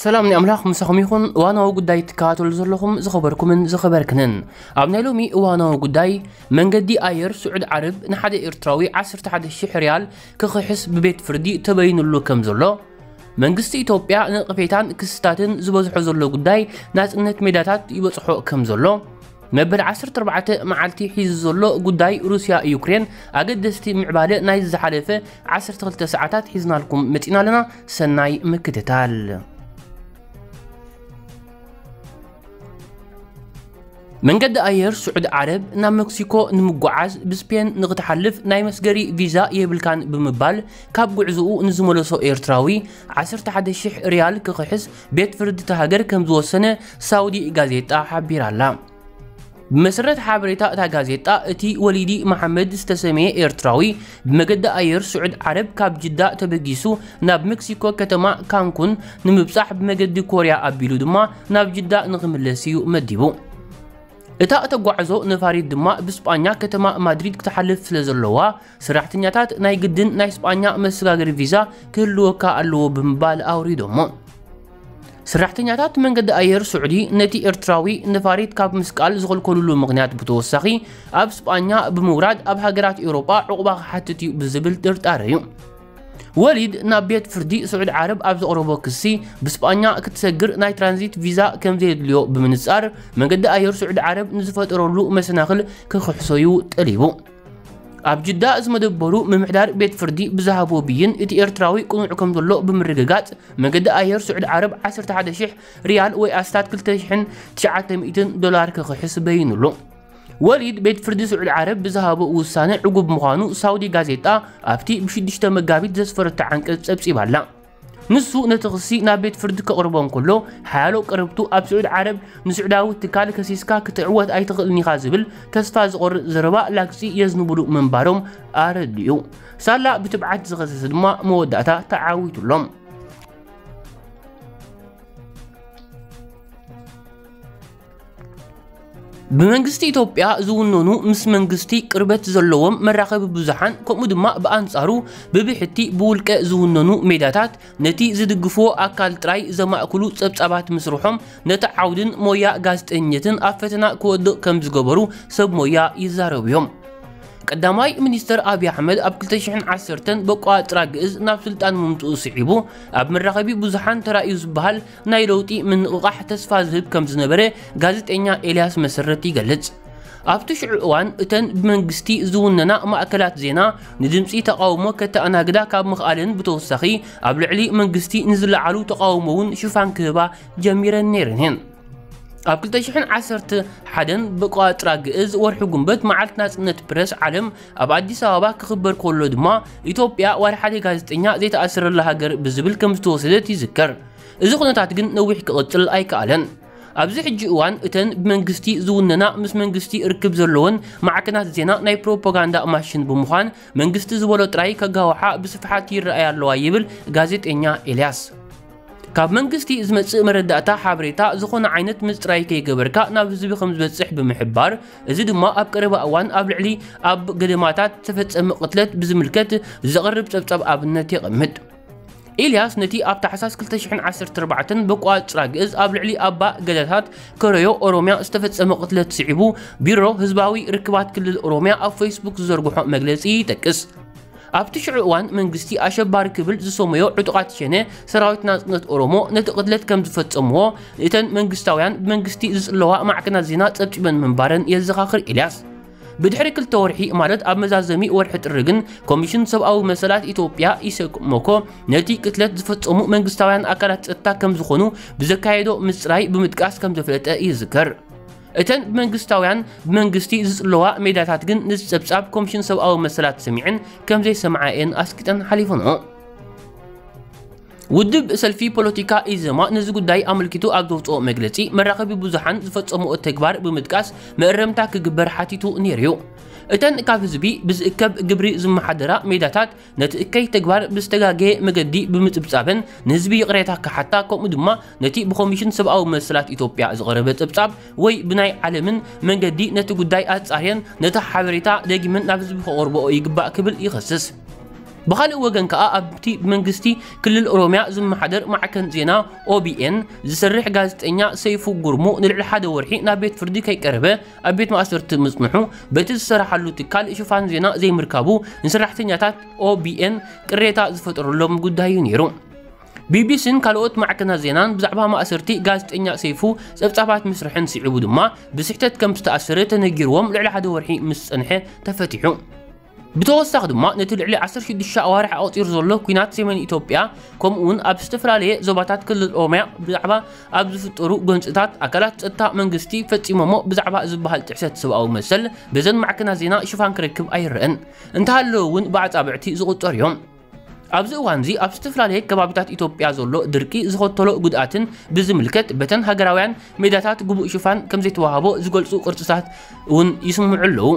ሰላም ናይ ኣምላኽ ምሳኹም ይኹን። እዋናዊ ጉዳይ ትከታተሉ ዘለኹም ዝኸበርኩምን ዝኸበርክንን። ኣብ ናይ ሎሚ እዋናዊ ጉዳይ፣ መንገዲ ኣየር ስዑድ ዓረብ ንሓደ ኤርትራዊ ዓሰርተ ሓደ ሺሕ ሪያል ክኽሕስ ብቤት ፍርዲ ተበይኑሉ ከም ዘሎ፣ መንግስቲ ኢትዮጵያ ነቐፌታን ክስታትን ዝበዝሖ ዘሎ ጉዳይ ናጽነት ሜዳታት ይበጽሖ ከም ዘሎ፣ መበል ዓሰርተ ኣርባዕተ መዓልቲ ሒዙ ዘሎ ጉዳይ ሩስያ ዩክሬን ኣገደስቲ ምዕባለ ናይ ዝሓለፈ ዓሰርተ ክልተ ሰዓታት ሒዝናልኩም መጺና ኣለና። ሰናይ ምክትታል። መንገዲ ኣየር ስዑድ ዓረብ ናብ መክሲኮ ንምጉዓዝ ብስፔን ንክትሓልፍ ናይ መስገሪ ቪዛ የብልካን ብምባል ካብ ጉዕዝኡ ንዝመለሶ ኤርትራዊ ዓሰርተ ሓደ ሺሕ ሪያል ክኽሕስ ቤት ፍርዲ እታ ሃገር ከም ዝወሰነ ሳውዲ ጋዜጣ ሓቢራ ኣላ። ብመሰረት ሓበሬታ እታ ጋዜጣ፣ እቲ ወሊዲ መሓመድ ዝተሰመየ ኤርትራዊ ብመገዲ ኣየር ስዑድ ዓረብ ካብ ጅዳ ተበጊሱ ናብ ሜክሲኮ ከተማ ካንኩን ንምብጻሕ ብመገዲ ኮርያ ኣቢሉ ድማ ናብ ጅዳ ንኽምለስ እዩ መዲቡ። እታ እተጓዕዞ ነፋሪት ድማ ብስጳኛ ከተማ ማድሪድ ክትሓልፍ ስለ ዘለዋ፣ ሰራሕተኛታት ናይ ግድን ናይ ስጳኛ መሰጋገሪ ቪዛ ክህልወካ ኣለዎ ብምባል ኣውሪዶሞ። ሰራሕተኛታት መንገዲ ኣየር ስዑዲ ነቲ ኤርትራዊ ነፋሪት ካብ ምስቃል ዝኸልከሉሉ ምኽንያት ብተወሳኺ፣ ኣብ ስጳኛ ብምውራድ ኣብ ሃገራት ኤውሮጳ ዕቑባ ክሓትት እዩ ብዝብል ጥርጣረ እዩ። ወሊድ ናብ ቤት ፍርዲ ስዑድ ዓረብ ኣብ ዘቕረቦ ክሲ፣ ብስጳኛ ክትሰግር ናይ ትራንዚት ቪዛ ከም ዘየድልዮ ብምንጻር፣ መንገዲ ኣየር ስዑድ ዓረብ ንዝፈጠረሉ መሰናኽል ክኽሕሶ እዩ ጠሊቡ። ኣብ ጅዳ ዝመደበሩ ምምሕዳር ቤት ፍርዲ ብዝሃቦ ብይን፣ እቲ ኤርትራዊ ቅኑዕ ከም ዘሎ ብምርግጋጽ፣ መንገዲ ኣየር ስዑድ ዓረብ ዓሰርተ ሓደ ሺሕ ሪያል ወይ ኣስታት ክልተ ሽሕን ትሽዓተ ሚእትን ዶላር ክኽሕስ በይኑሉ። ወሊድ ቤት ፍርዲ ስዑድ ዓረብ ብዝሃቦ ውሳነ ዕጉብ ምዃኑ ሳውዲ ጋዜጣ ኣብቲ ብሽዱሽተ መጋቢት ዘስፈረቶ ዓንቀጽ ጸብጺባ ኣላ። ንሱ ነቲ ክሲ ናብ ቤት ፍርዲ ከቕርቦ እንከሎ፣ ሓያሎ ቀረብቱ ኣብ ስዑድ ዓረብ ንስዑዳዊ ትካል ከሲስካ ክትዕወት ኣይትኽእልን ኢኻ ዝብል ተስፋ ዝቖርጽ ዘረባ ላግጺ የዝንብሉ ምንባሮም ኣረዲኡ። ሳላ ብትብዓት ዝኸሰሰ ድማ መወዳእታ ተዓዊቱሎም። ብመንግስቲ ኢትዮጵያ ዝውነኑ ምስ መንግስቲ ቅርበት ዘለዎም መራኸቢ ብዙሓን፣ ከምኡ ድማ ብኣንጻሩ ብብሕቲ ብውልቀ ዝውነኑ ሜዳታት፣ ነቲ ዝድግፍዎ ኣካል ጥራይ ዘማእክሉ ጸብጻባት ምስርሖም፣ ነቲ ዓውድን ሞያ ጋዜጠኝነትን ኣብ ፈተና ክወድቕ ከም ዝገበሩ ሰብ ሞያ ይዛረቡ እዮም። ቀዳማይ ሚኒስተር ኣብይ ኣሕመድ ኣብ ክልተ ሽሕን ዓሰርተን በቋጽራ ግእዝ ናብ ስልጣን ምምጽኡ ስዒቡ፣ ኣብ መራኸቢ ብዙሓን ተራእዩ ዝበሃል ናይ ለውጢ ምንቕቓሕ ተስፋ ዝህብ ከም ዝነበረ ጋዜጠኛ ኤልያስ መሰረት ይገልጽ። ኣብቲ ሽዑ እዋን፣ እተን ብመንግስቲ ዝውነና ማእከላት ዜና ንድምጺ ተቓውሞ ከተኣናግዳ ካብ ምኽኣለን ብተወሳኺ፣ ኣብ ልዕሊ መንግስቲ ንዝለዓሉ ተቓውሞ እውን ሽፋን ክህባ ጀሚረን ነይረን እየን። ኣብ ክልተ ሽሕን ዓሰርተ ሓደን ብቋጽራ ግእዝ ወርሒ ጉንበት መዓልቲ ናጽነት ፕረስ ዓለም ኣብ ኣዲስ ኣበባ ክኽበር ከሎ ድማ፣ ኢትዮጵያ ዋላ ሓደ ጋዜጠኛ ዘይተኣሰረላ ሃገር ብዝብል ከም ዝተወሰደት ይዝከር። እዚ ኩነታት ግን ነዊሕ ክቕጽል ኣይከኣለን። ኣብዚ ሕጂ እዋን፣ እተን ብመንግስቲ ዝውነና ምስ መንግስቲ ርክብ ዘለወን ማዕከናት ዜና ናይ ፕሮፓጋንዳ ማሽን ብምዃን፣ መንግስቲ ዝበሎ ጥራይ ከጋውሓ ብስፍሓት ይረኣያ ኣለዋ ይብል ጋዜጠኛ ኤልያስ። ካብ መንግስቲ ዝመጽእ መረዳእታ ሓበሬታ ዝኾነ ዓይነት ምጽራይ ከይገበርካ ናብ ህዝቢ ከም ዝበጽሕ ብምሕባር፣ እዚ ድማ ኣብ ቀረባ እዋን ኣብ ልዕሊ ኣብ ገደማታት ዝተፈጸመ ቅትለት ብዝምልከት ዘቕርብ ጸብጻብ ኣብነት የቐምጥ። ኢልያስ ነቲ ኣብ ታሕሳስ ክልተ ሽሕን ዓሰርተ ኣርባዕተን በቋጽራ ግእዝ ኣብ ልዕሊ ኣባ ገዳታት ከረዮ ኦሮምያ ዝተፈጸመ ቅትለት ስዒቡ፣ ቢሮ ህዝባዊ ርክባት ክልል ኦሮምያ ኣብ ፌስቡክ ዝዘርግሖ መግለጺ ይጠቅስ። ኣብቲ ሽዑ እዋን መንግስቲ ኣሸባሪ ክብል ዝሰመዮ ዕጡቓት ሸኔ ሰራዊት ናጽነት ኦሮሞ ነቲ ቅትለት ከም ዝፈጸምዎ እተን መንግስታውያን ብመንግስቲ ዝጽለዋ ማዕከናት ዜና ጸብጺበን ምንባረን የዘኻኽር ኢልያስ። ብድሕሪ ክልተ ወርሒ፣ ማለት ኣብ መዛዘሚ ወርሒ ጥሪ ግን፣ ኮሚሽን ሰብኣዊ መሰላት ኢትዮጵያ፣ ኢሰመኮ፣ ነቲ ቅትለት ዝፈጸሙ መንግስታውያን ኣካላት ጸጥታ ከም ዝኾኑ ብዘካየዶ ምጽራይ ብምጥቃስ ከም ዘፍለጠ ይዝከር። እተን ብመንግስታውያን ብመንግስቲ ዝጽለዋ ሜዳታት ግን፣ ንዚ ጸብጻብ ኮሚሽን ሰብኣዊ መሰላት ሰሚዐን ከም ዘይሰምዓ እየን ኣስቂጠን ሓሊፈንኦ። ውድብ ሰልፊ ፖለቲካ ኢዜማ ነዚ ጉዳይ ኣመልኪቱ ኣብ ዘውጽኦ መግለጺ፣ መራኸቢ ብዙሓን ዝፈጸምኦ ተግባር ብምጥቃስ መእረምታ ክግበር ሓቲቱ ነይሩ እዩ። እተን ካብ ህዝቢ ብዝእከብ ግብሪ ዝመሓደራ ሜዳታት፣ ነቲ እከይ ተግባር ብዝተጋገየ መገዲ ብምጽብጻበን ንህዝቢ ይቕሬታ ክሓታ፣ ከምኡ ድማ ነቲ ብኮሚሽን ሰብኣዊ መሰላት ኢትዮጵያ ዝቐረበ ጸብጻብ ወይ ብናይ ዓለምን መንገዲ ነቲ ጉዳይ ኣጻርየን ነቲ ሓበሬታ ደጊመን ናብ ህዝቢ ከቕርብኦ ይግባእ ክብል ይኸስስ። ብኻልእ ወገን ከኣ ኣብቲ ብመንግስቲ ክልል ኦሮምያ ዝመሓደር ማዕከን ዜና ኦቢኤን ዝሰርሕ ጋዜጠኛ ሰይፉ ጉርሙ ንልዕሊ ሓደ ወርሒ ናብ ቤት ፍርዲ ከይቀረበ ኣብ ቤት ማእሰርቲ ምጽንሑ በቲ ዝሰራሓሉ ትካል ሽፋን ዜና ዘይምርካቡ ንሰራሕተኛታት ኦቢኤን ቅሬታ ዝፈጠረሎም ጉዳይ እዩ ነይሩ። ቢቢሲን ካልኦት ማዕከናት ዜናን ብዛዕባ ማእሰርቲ ጋዜጠኛ ሰይፉ ጸብጻባት ምስርሐን ስዒቡ ድማ ብስሕተት ከም ዝተኣሰረ ተነጊርዎም ልዕሊ ሓደ ወርሒ ምስ ጸንሐ ተፈቲሑ። ብተወሳኺ ድማ ነቲ ልዕሊ ዓሰርተ ሽዱሽተ ኣዋርሕ ኣቑጺሩ ዘሎ ኲናት ሰሜን ኢትዮጵያ ከምኡ እውን ኣብ ዝተፈላለየ ዞባታት ክልል ኦሮምያ ብዛዕባ ኣብ ዝፍጠሩ ጎንፅታት ኣካላት ጸጥታ መንግስቲ ፈጺሞሞ ብዛዕባ ዝበሃል ጥሕሰት ሰብኣዊ መሰል በዘን ማዕከናት ዜና ሽፋን ክረክብ ኣይረአን። እንተሃለወ እውን ብኣጻብዕቲ ዝቑጸሩ እዮም። ኣብዚ እዋንዚ ኣብ ዝተፈላለየ ከባቢታት ኢትዮጵያ ዘሎ ድርቂ ዝኸተሎ ጉድኣትን ብዝምልከት በተን ሃገራውያን ሜዳታት ግቡእ ሽፋን ከም ዘይተዋህቦ ዝገልጹ ቅርጽታት እውን ይስምዑ ኣለዉ።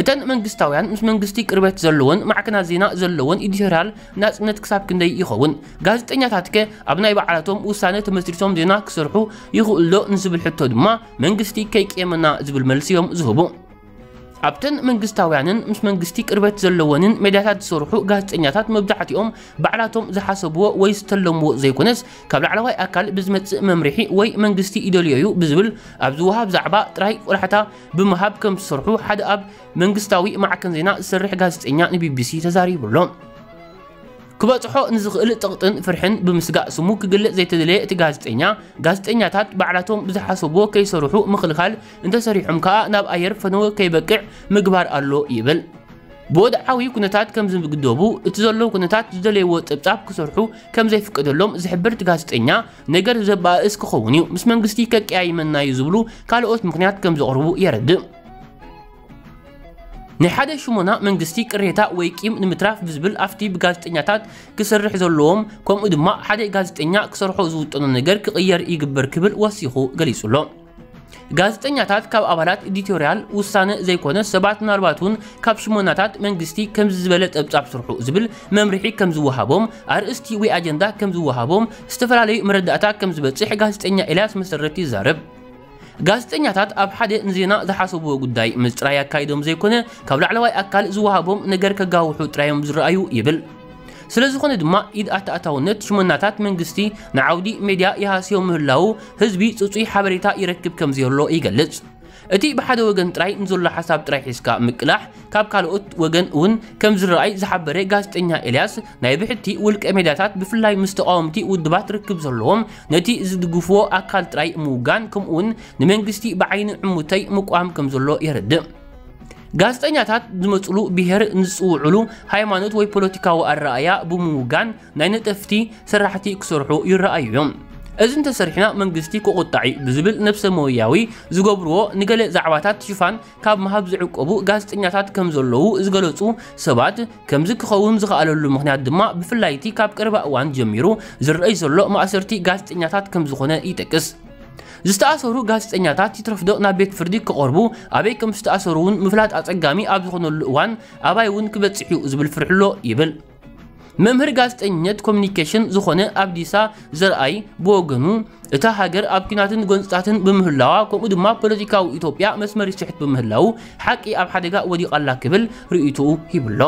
እተን መንግስታውያን ምስ መንግስቲ ቅርበት ዘለዎን ማዕከናት ዜና ዘለዎን ኤዲቶርያል ናጽነት ክሳብ ክንደይ ይኸውን? ጋዜጠኛታትከ ኣብ ናይ ባዕላቶም ውሳነ ተመስሪቶም ዜና ክሰርሑ ይኽእሉ ዶ ንዝብል ሕቶ ድማ መንግስቲ ከይቅየመና ዝብል መልሲ እዮም ዝህቡ። ኣብተን መንግስታውያንን ምስ መንግስቲ ቅርበት ዘለወንን ሜዳታት ዝሰርሑ ጋዜጠኛታት መብዛሕትኦም ባዕላቶም ዝሓሰብዎ ወይ ዝተለምዎ ዘይኮነስ ካብ ላዕለዋይ ኣካል ብዝመጽእ መምርሒ ወይ መንግስቲ ይደልዮ እዩ ብዝብል ኣብ ዝወሃብ ዛዕባ ጥራይ ቆላሕታ ብምሃብ ከም ዝሰርሑ ሓደ ኣብ መንግስታዊ ማዕከን ዜና ዝሰርሕ ጋዜጠኛ ንቢቢሲ ተዛሪቡ ኣሎ። ክበጽሖ ንዝኽእል ጸቕጥን ፍርሕን ብምስጋእ ስሙ ክግለጽ ዘይተደለየ እቲ ጋዜጠኛ፣ ጋዜጠኛታት ባዕላቶም ብዝሓሰብዎ ከይሰርሑ ምኽልኻል፣ እንተሰሪሖም ከኣ ናብ ኣየር ፈነወ ከይበቅዕ ምግባር ኣሎ ይብል። ብወድዓዊ ኩነታት ከም ዝግደቡ፣ እቲ ዘሎ ኩነታት ዝደለይዎ ጸብጻብ ክሰርሑ ከም ዘይፍቀደሎም ዝሕብር እቲ ጋዜጠኛ፣ ነገር ዘባእስ ክኸውን እዩ፣ ምስ መንግስቲ ከቀያይመና እዩ ዝብሉ ካልኦት ምኽንያት ከም ዘቕርቡ የረድእ። ናይ ሓደ ሽሞና መንግስቲ ቅሬታ ወይ ቂም ንምትራፍ ብዝብል ኣብቲ ብጋዜጠኛታት ክሰርሕ ዘለዎም ከምኡ ድማ ሓደ ጋዜጠኛ ክሰርሖ ዝውጠኖ ነገር ክቕየር ይግበር ክብል ወሲኹ ገሊጹ ኣሎ። ጋዜጠኛታት ካብ ኣባላት ኤዲቶርያል ውሳነ ዘይኮነ ሰባት ምናልባት እውን ካብ ሽሞናታት መንግስቲ ከምዚ ዝበለ ጸብጻብ ስርሑ ዝብል መምርሒ ከም ዝወሃቦም ኣርእስቲ ወይ ኣጀንዳ ከም ዝወሃቦም ዝተፈላለዩ መረዳእታ ከም ዝበጽሕ ጋዜጠኛ ኤልያስ መሰረት ይዛረብ። ጋዜጠኛታት ኣብ ሓደ ንዜና ዝሓሰብዎ ጉዳይ ምጽራይ ኣካይዶም ዘይኮነ ካብ ላዕለዋይ ኣካል ዝወሃቦም ነገር ከጋውሑ ጥራዮም ዝረኣዩ ይብል። ስለ ዝኾነ ድማ ኢድ ኣተኣታውነት ሽመናታት መንግስቲ ንዓውዲ ሜድያ ይሃስዮ ምህላዉ ህዝቢ ጽጹይ ሓበሬታ ይረክብ ከም ዘሎ ይገልጽ። እቲ ብሓደ ወገን ጥራይ ንዘሎ ሓሳብ ጥራይ ሒዝካ ምቅላሕ ካብ ካልኦት ወገን እውን ከም ዝረኣይ ዝሓበረ ጋዜጠኛ ኤልያስ ናይ ብሕቲ ውልቀ ሜድያታት ብፍላይ ምስ ተቃወምቲ ውድባት ርክብ ዘለዎም ነቲ ዝድግፍዎ ኣካል ጥራይ ምውጋን ከምኡውን ንመንግስቲ ብዓይኒ ዕሙተይ ምቋም ከም ዘሎ የረድእ። ጋዜጠኛታት ዝመፅሉ ብሄር ንዝፅውዕሉ ሃይማኖት ወይ ፖለቲካዊ ኣረኣያ ብምውጋን ናይ ነጠፍቲ ስራሕቲ ክሰርሑ ይረኣዩ እዮም። እዚ እንተሰሪሕና መንግስቲ ክቑጣዕ እዩ ብዝብል ነብሰ ሞያዊ ዝገብርዎ ንገለ ዛዕባታት ሽፋን ካብ ምሃብ ዝዕቀቡ ጋዜጠኛታት ከም ዘለዉ ዝገለጹ ሰባት፣ ከምዚ ክኸውን ዝኸኣለሉ ምኽንያት ድማ ብፍላይ እቲ ካብ ቀረባ እዋን ጀሚሩ ዝረኣይ ዘሎ ማእሰርቲ ጋዜጠኛታት ከም ዝኾነ ይጠቅስ። ዝተኣሰሩ ጋዜጠኛታት ይትረፍዶ ናብ ቤት ፍርዲ ክቐርቡ ኣበይ ከም ዝተኣሰሩ እውን ምፍላጥ ኣጸጋሚ ኣብ ዝኾነሉ እዋን ኣባይ እውን ክበጽሕ እዩ ዝብል ፍርሒ ኣሎ ይብል። መምህር ጋዜጠኝነት ኮሚኒኬሽን ዝኾነ ኣብዲሳ ዘርኣይ ብወገኑ፣ እታ ሃገር ኣብ ኲናትን ጎንጽታትን ብምህላዋ፣ ከምኡ ድማ ፖለቲካዊ ኢትዮጵያ መስመር ይስሕት ብምህላዉ፣ ሓቂ ኣብ ሓደጋ ወዲቓ ኣላ ክብል ርእይቶኡ ሂቡ'ሎ።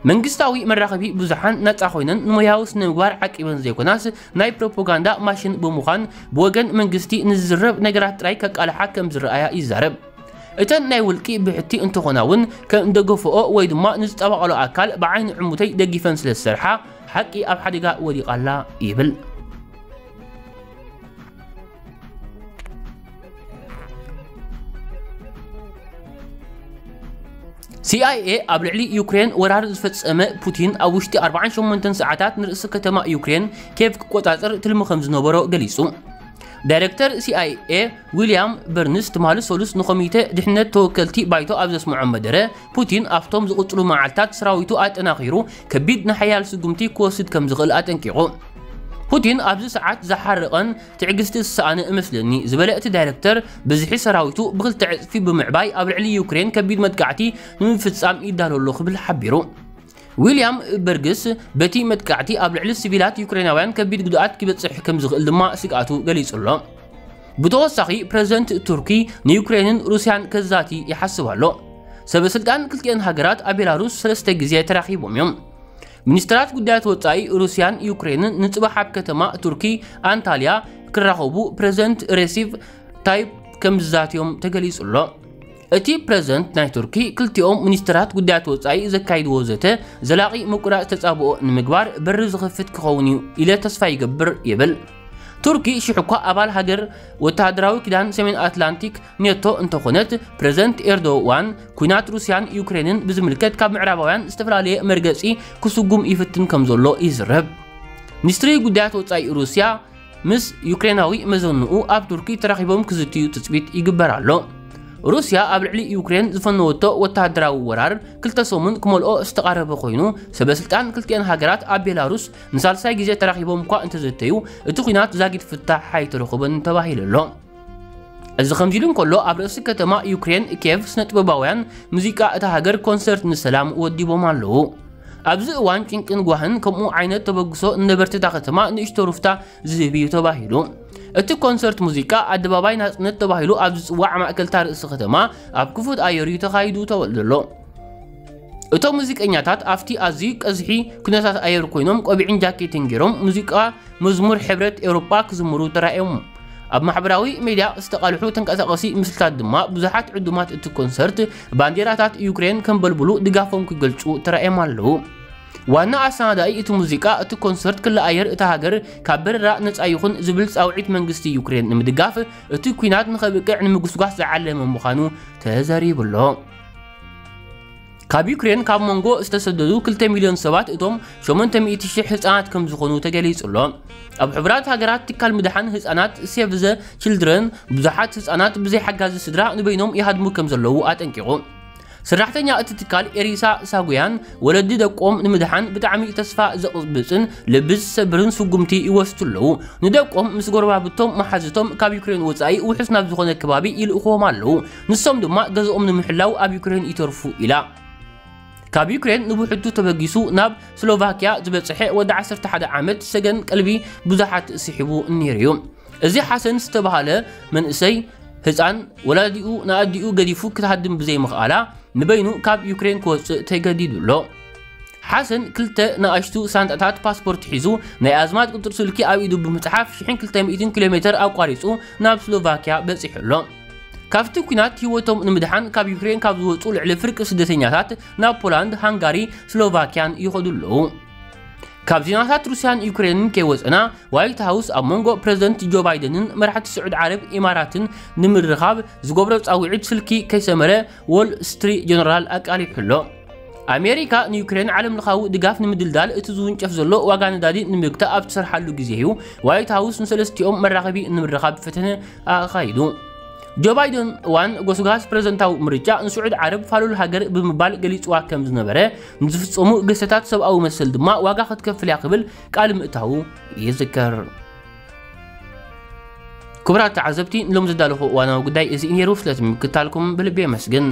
መንግስታዊ መራኸቢ ብዙሓን ናጻ ኮይነን ንሞያዊ ስነ ምግባር ዓቂበን ዘይኮናስ፣ ናይ ፕሮፓጋንዳ ማሽን ብምዃን፣ ብወገን መንግስቲ ንዝዝረብ ነገራት ጥራይ ከቃልሓ ከም ዝረኣያ ይዛረብ። እተን ናይ ውልቂ ብሕቲ እንተኾና እውን፣ ከም እንደገፍኦ ወይ ድማ ንዝጠባቐሎ ኣካል ብዓይኒ ዕሙተይ ደጊፈን ስለ ዝሰርሓ፣ ሓቂ ኣብ ሓደጋ ወዲቓ ኣላ ይብል። ሲኣይኤ ኣብ ልዕሊ ዩክሬን ወራር ዝፈጸመ ፑቲን፣ ኣብ ውሽጢ ኣርባዓን ሸሞንተን ሰዓታት ንርእሲ ከተማ ዩክሬን ኬቭ ክቆጻጸር ትልሚ ከም ዝነበሮ ገሊጹ። ዳይረክተር ሲኣይኤ ዊልያም በርንስ ትማሊ ሰሉስ ንኮሚተ ድሕነት ተወከልቲ ባይቶ ኣብ ዘስምዖ መደረ፣ ፑቲን ኣብቶም ዝቕጽሉ መዓልታት ሰራዊቱ ኣጠናኺሩ ከቢድ ንሓያል ስጉምቲ ክወስድ ከም ዝኽእል ኣጠንቂቑ። ፑቲን ኣብዚ ሰዓት ዝሓረቐን ትዕግስቲ ዝሰኣነ እመስለኒ ዝበለ እቲ ዳይረክተር፣ ብዝሒ ሰራዊቱ ብኽልተ ዕጽፊ ብምዕባይ ኣብ ልዕሊ ዩክሬን ከቢድ መጥቃዕቲ ንምፍጻም ይዳሎ ኣሎ ክብል ሓቢሩ። ዊልያም በርግስ በቲ መጥቃዕቲ ኣብ ልዕሊ ሲቪላት ዩክሬናውያን ከቢድ ጉድኣት ክበጽሕ ከም ዝኽእል ድማ ስግኣቱ ገሊጹ ኣሎ። ብተወሳኺ ፕረዚደንት ቱርኪ ንዩክሬንን ሩስያን ከዛቲ ይሓስብ ኣሎ። ሰበ ስልጣን ክልቲአን ሃገራት ኣብ ቤላሩስ ሰለስተ ግዜ ተራኺቦም እዮም። ሚኒስትራት ጉዳያት ወጻኢ ሩስያን ዩክሬንን ንጽባሕ ኣብ ከተማ ቱርኪ ኣንታልያ ክራኸቡ ፕሬዝደንት ሬሲፕ ታይፕ ከም ዝዛትዮም ተገሊጹ ኣሎ። እቲ ፕሬዝደንት ናይ ቱርኪ ክልቲኦም ሚኒስትራት ጉዳያት ወጻኢ ዘካይድዎ ዘተ ዘላቒ ምቁራጽ ተጻብኦ ንምግባር በሪ ዝኸፍት ክኸውን እዩ ኢለ ተስፋ ይገብር ይብል። ቱርኪ ሽሕ እኳ ኣባል ሃገር ወተሃደራዊ ኪዳን ሰሜን ኣትላንቲክ ኔቶ እንተኾነት፣ ፕሬዝደንት ኤርዶዋን ኩናት ሩስያን ዩክሬንን ብዝምልከት ካብ ምዕራባውያን ዝተፈላለየ መርገጺ ክስጉም ይፍትን ከም ዘሎ ይዝረብ። ሚኒስትሪ ጉዳያት ወጻኢ ሩስያ ምስ ዩክሬናዊ መዘንኡ ኣብ ቱርኪ ተራኺቦም ክዝትዩ ትጽቢት ይግበር ኣሎ። ሩስያ ኣብ ልዕሊ ዩክሬን ዝፈነወቶ ወተሃደራዊ ወራር ክልተ ሰሙን ክመልኦ ዝተቓረበ ኮይኑ፣ ሰበስልጣን ክልቲኣን ሃገራት ኣብ ቤላሩስ ንሳልሳይ ግዜ ተራኺቦም እኳ እንተዘተዩ፣ እቲ ኲናት ዛጊት ፍታሕ ኣይተረኸበን ተባሂሉ ኣሎ። እዚ ከምዚ ኢሉ እንከሎ፣ ኣብ ርእሲ ከተማ ዩክሬን ኬቭ ስነ ጥበባውያን ሙዚቃ እታ ሃገር ኮንሰርት ንሰላም ወዲቦም ኣለዉ። ኣብዚ እዋን ጭንቅን ጓህን ከምኡ ዓይነት ተበግሶ ንነበርቲ እታ ከተማ ንእሽቶ ሩፍታ ዝህብ እዩ ተባሂሉ። እቲ ኮንሰርት ሙዚቃ ኣደባባይ ናጽነት ተባሂሉ ኣብ ዝጽዋዕ ማእከል እታ ርእሲ ከተማ ኣብ ክፉት ኣየር እዩ ተኻይዱ ተወ-፣ ዘሎ። እቶም ሙዚቀኛታት ኣብቲ ኣዝዩ ቀዝሒ ኩነታት ኣየር ኮይኖም ቆቢዕን ጃኬትን ገይሮም ሙዚቃ መዝሙር ሕብረት ኤውሮጳ ክዝምሩ ተራእዮም። ኣብ ማሕበራዊ ሜድያ ዝተቓልሑ ተንቀሳቐሲ ምስልታት ድማ ብዙሓት ዕዱማት እቲ ኮንሰርት ባንዴራታት ዩክሬን ከንበልብሉ ድጋፎም ክገልጹ ተራእዮም ኣለዉ። ዋና ኣሰናዳኢ እቲ ሙዚቃ፣ እቲ ኮንሰርት ክለ ኣየር እታ ሃገር ካብ በረራ ነጻ ይኹን ዝብል ጻውዒት መንግስቲ ዩክሬን ንምድጋፍ፣ እቲ ኲናት ንኸብቅዕ ንምጉስጓስ ዝዓለመ ምዃኑ ተዘሪቡ ኣሎ። ካብ ዩክሬን ካብ መንጎ ዝተሰደዱ ክልተ ሚልዮን ሰባት፣ እቶም ሸሞንተ ሚእቲ ሺሕ ህጻናት ከም ዝኾኑ ተገሊጹ ኣሎ። ኣብ ሕቡራት ሃገራት ትካል ምድሓን ህጻናት ሴቭ ዘ ችልድረን ብዙሓት ህጻናት ብዘይ ሓጋዚ ስድራ ንበይኖም ይሃድሙ ከም ዘለዉ ኣጠንቂቑ። ሰራሕተኛ እቲ ትካል ኤሪሳ ሳጉያን፣ ወለዲ ደቆም ንምድሓን ብጣዕሚ ተስፋ ዘቕብጽን ልቢ ዝሰብርን ስጉምቲ ይወስዱ ኣለዉ። ንደቆም ምስ ጎረባብቶም መሓዝቶም ካብ ዩክሬን ወጻኢ ውሑስ ናብ ዝኾነ ከባቢ ይልእኽዎም ኣለዉ። ንሶም ድማ ገዝኦም ንምሕላው ኣብ ዩክሬን ይተርፉ ኢላ። ካብ ዩክሬን ንብሕቱ ተበጊሱ ናብ ስሎቫኪያ ዝበጽሐ ወዲ ዓሰርተ ሓደ ዓመት ሰገን ቀልቢ ብዙሓት ስሒቡ ነይሩ እዩ። እዚ ሓሰን ዝተባህለ መንእሰይ ህፃን ወላዲኡ ንኣዲኡ ገዲፉ ክትሃድም ብዘይምኽኣላ ንበይኑ ካብ ዩክሬን ክወፅእ ተገዲዱ ኣሎ። ሓሰን ክልተ ንኣሽቱ ሳንጣታት ፓስፖርት ሒዙ ናይ ኣዝማድ ቁፅሪ ስልኪ ኣብ ኢዱ ብምፅሓፍ ሽሕን ክልተ ሚእትን ኪሎ ሜትር ኣቋሪፁ ናብ ስሎቫኪያ በፂሑ ኣሎ። ካብቲ ኲናት ህይወቶም ንምድሓን ካብ ዩክሬን ካብ ዝወፁ ልዕሊ ፍርቂ ስደተኛታት ናብ ፖላንድ፣ ሃንጋሪ፣ ስሎቫኪያን ይኸዱ ኣለዉ። ካብ ዜናታት ሩስያን ዩክሬንን ከይወፀና፣ ዋይት ሃውስ ኣብ መንጎ ፕሬዝደንት ጆ ባይደንን መራሕቲ ስዑድ ዓረብ ኢማራትን ንምርኻብ ዝገብሮ ጻውዒት ስልኪ ከይሰመረ ዎል ስትሪት ጀነራል ኣቃሊሑ ኣሎ። ኣሜሪካ ንዩክሬን ዓለም ለኻዊ ድጋፍ ንምድልዳል እቲ ዝውንጨፍ ዘሎ ዋጋ ነዳዲ ንምግታእ ኣብ ትሰርሓሉ ግዜ እዩ ዋይት ሃውስ ንሰለስቲኦም መራኸቢ ንምርኻብ ፈተነ ኣኻይዱ። ጆ ባይደን እዋን ጎስጓስ ፕሬዝደንታዊ ምርጫ ንስዑድ ዓረብ ፋሉል ሃገር ብምባል ገሊጽዋ ከም ዝነበረ፣ ንዝፍጸሙ ግህሰታት ሰብኣዊ መሰል ድማ ዋጋ ክትከፍል እያ ክብል ቃል ምእታዉ ይዝከር። ክቡራት ተዓዘብቲ፣ ንሎም ዘዳለኹ እዋናዊ ጉዳይ እዚ እዩ ነይሩ። ስለቲ ምክታልኩም ብልቢ የመስግን።